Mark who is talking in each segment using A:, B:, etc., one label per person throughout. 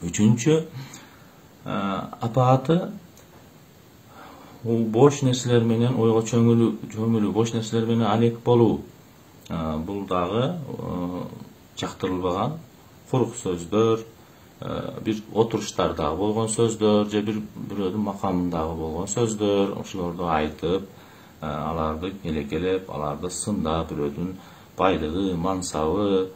A: Үчүнчү апааты бош нерселер менен ойго чөмүлүү, бош нерселер менен алек болуу. Бул дагы жактырылбаган курук сөздөр, бир отуруштардагы болгон сөздөр же бирөөдүн макамындагы болгон сөздөр, ошолорду айтып, аларды келекелеп, аларды сындап, бирөөдүн байлыгы, мансабы,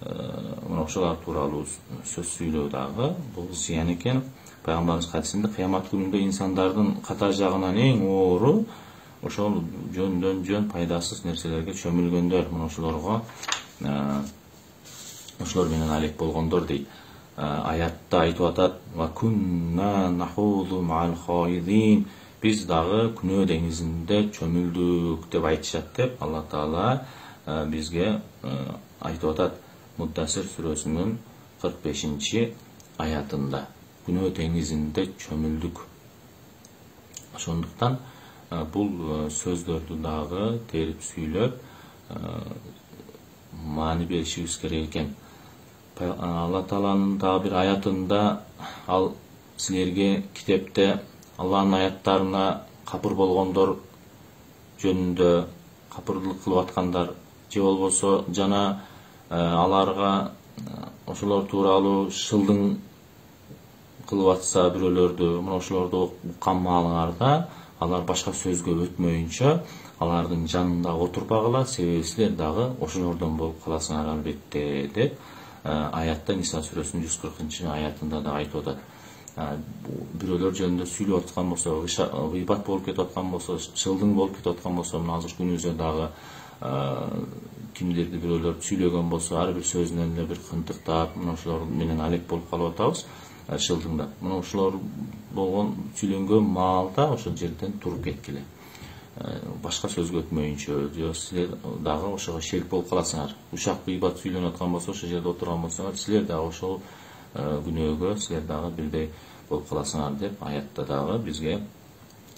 A: мына ошолор тууралуу сөз сүйлөө дагы бул зыян экен. Пайгамбарыбыз хадисинде кыямат күнүндө инсандардын ката жагынан эң оору ошол жөндөн жөн пайдасыз нерселерге чөмүлгөндөр, мына ошолор менен алек болгондор дейт. Аятта айтып атат: "Ва кунна нахуду мa'al khaidin", биз дагы күнөө деңизинде чөмүлдүк деп айтышат деп Алла Таала бизге айтып атат Муддассир сүрөсүнүн 45-аятында. Күнөө деңизинде чөмүлдүк. Ошондуктан бул сөздөрдү дагы терип сүйлөп маани беришибиз керек экен. Алла Тааланын дагы бир аятында ал силерге китепте Алланын аяттарына капыр болгондор жөнүндө, капырдык кылып аткандар же болбосо жана аларга ошолор тууралуу шылдың кылып атса бирөөлөрдү, мына ошолорду уккан маалыңарда алар башка сөзгө өтмөйүнчө алардын жанында отурбагыла, себеби силер дагы ошолордон болуп каласыңар албетте деп аятта Ниса сүрөсүнүн 140-аятында да айтып атат. Бирөөлөр жөнүндө сүйлөп аткан болсо, гыйбат болуп кетип аткан болсо, шылдың болуп кетип аткан болсо, мына азыр күнүбүздө дагы кимдирди бирөөлөр сүйлөгөн болсо, ар бир сөзүнөн эле бир кынтыктап, мына ошолор менен алек болуп калып атабыз. Шылдыңда мына ошолор болгон сүйлөнгөн маалда ошол жерден туруп кеткиле. Башка сөзгө өтмөйүнчө, же силер дагы ошого шерик болуп каласыңар. Ушак гыйбат сүйлөнүп аткан болсо, ошол жерде отурган болсоңор, силер дагы ошол күнөөгө силер дагы бирдей болуп каласыңар деп аятта дагы бизге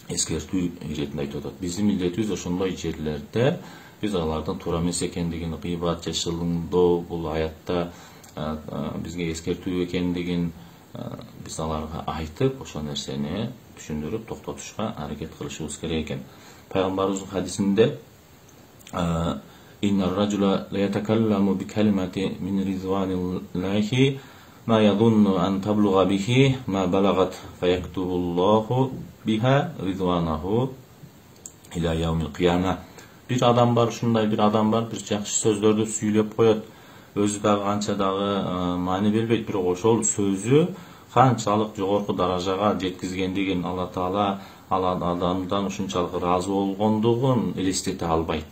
A: эскертүү иретинде айтып атат. Биздин милдетибиз ошондой жерлерде биз алардын туура эмес экендигин, гыйбат же шылдыңдоо бул аятта бизге эскертүү экендигин биз аларга айтып, ошол нерсени түшүндүрүп, токтотушка аракет кылышыбыз керек экен. Пайгамбарыбыздын хадисинде "Иннар ражула ла ятакалламу би калимати мин ризваниллахи ма ядунну ан таблуга бихи ма балагат фаяктубуллаху биха ризванаху иля яумил кыяма". Бир адам бар, ушундай бир адам бар, бир жакшы сөздөрдү сүйлөп коет. Өзү дагы канча дагы маани бербейт, бирок ошол сөзү канчалык жогорку даражага жеткизгендигин, Алла Таала ал адамдан ушунчалык ыраазы болгондугун элестете албайт.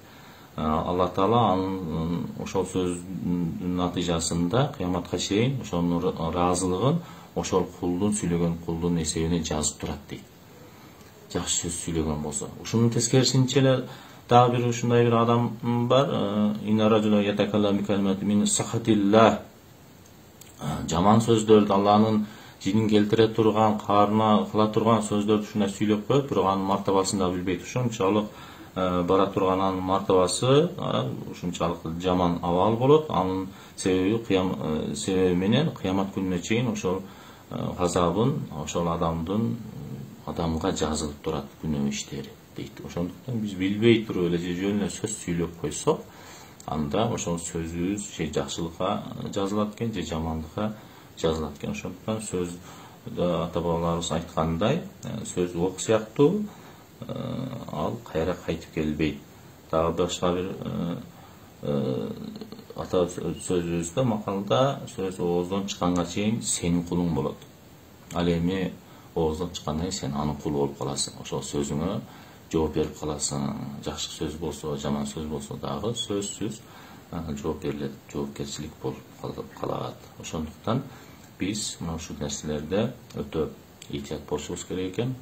A: Алла Таала анын ошол сөздүн натыйжасында кыяматка чейин ошонун ыраазылыгын ошол кулдун сүйлөгөн кулдун эсебине жазып турат дейт. Жакшы сөз сүйлөгөн болсо. Ушунун тескерисинче эле дагы бир ушундай бир адам бар. Инаражула ятакалла би калимати мин сахатилла. Жаман сөздөрдү, Алланын жинин келтире турган, каарына кыла турган сөздөрдү ушундай сүйлөп коет, бирок анын мартабасын да билбейт. Ушунчалык бара турган анын мартабасы ушунчалык жаман абал болот. Анын себеби менен кыямат күнүнө чейин ошол газабын ошол адамга жазылып турат күнөө иштери дейт. Ошондуктан биз билбей туруп эле же жөн эле сөз сүйлөп койсок, анда ошол сөзүбүз же жакшылыкка жазылат экен, же жамандыкка жазылат экен. Ошондуктан сөздө ата бабаларыбыз айткандай, сөз ок сыяктуу, ал кайра кайтып келбейт. Дагы башка бир ата сөзүбүздө макалда сөз ооздон чыкканга чейин сенин кулуң болот. Ал эми ооздон чыккандан кийин сен анын кулу болуп каласың. Ошол сөзүңө жооп берип каласың. Жакшы сөз болсо, жаман сөз болсо дагы сөзсүз жооп берилет, жоопкерчилик болуп калат. Ошондуктан биз мына ушул нерселерде өтө этият болушубуз керек экен.